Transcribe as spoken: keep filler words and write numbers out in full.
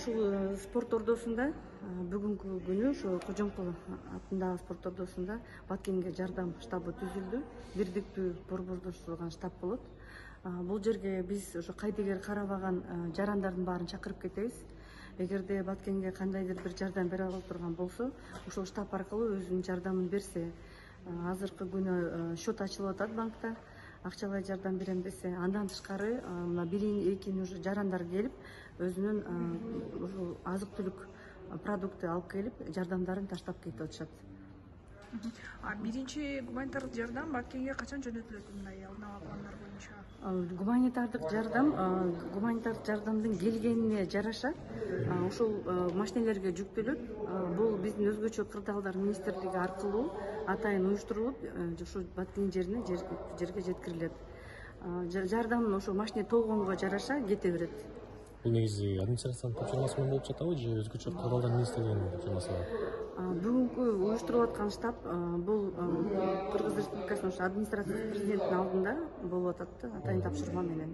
Ушул спорт ордосунда бүгүнкү күнү ошо Кожомкул атындагы спорт ордосунда Баткенге жардам штабы түзүлдү. Бирдиктүү борбордоштурулган штаб болот. Бул жерге биз ошо кайдыгер карабаган жарандардын баарын чакырып кетебиз. Эгерде Баткенге кандайдыр бир жардам бере ала турган болсо, ушул штаб аркылуу өзүнүн жардамын берсе, азыркы күнү счет ачылып атат банкта. Акчалай жардам берем десе, андан тышкары мына бирин экин уже жарандар келип, өзүнүн ушул азык-түлүк продукты алып келип, жардамдарын таштап кетип атышат. А биринчи гуманитардык жардам Баткенге качан жөнөтүлөт, мындай алдын ала пландар боюнча? Гуманитардык жардам, гуманитардык жардамдын келгенине жараша ушул машинелерге жүктөлөт. Бул биздин өзгөчө кырдаалдар министрлиги аркылуу атайын уюштурулуп, ушул Баткен жерине жерге жеткирилет. Жардам ошо машине толгонго жараша кете берет. Бул негизи администрациянын тапшырмасы менен болуп жатабы же өзгөчө кырдаалдар министрлигинин тапшырмасы? Бүгүнкү уюштурулуп аткан штаб бул Кыргыз Республикасынын администрациясы президенттин алдында болуп атат да, атайын тапшырма менен.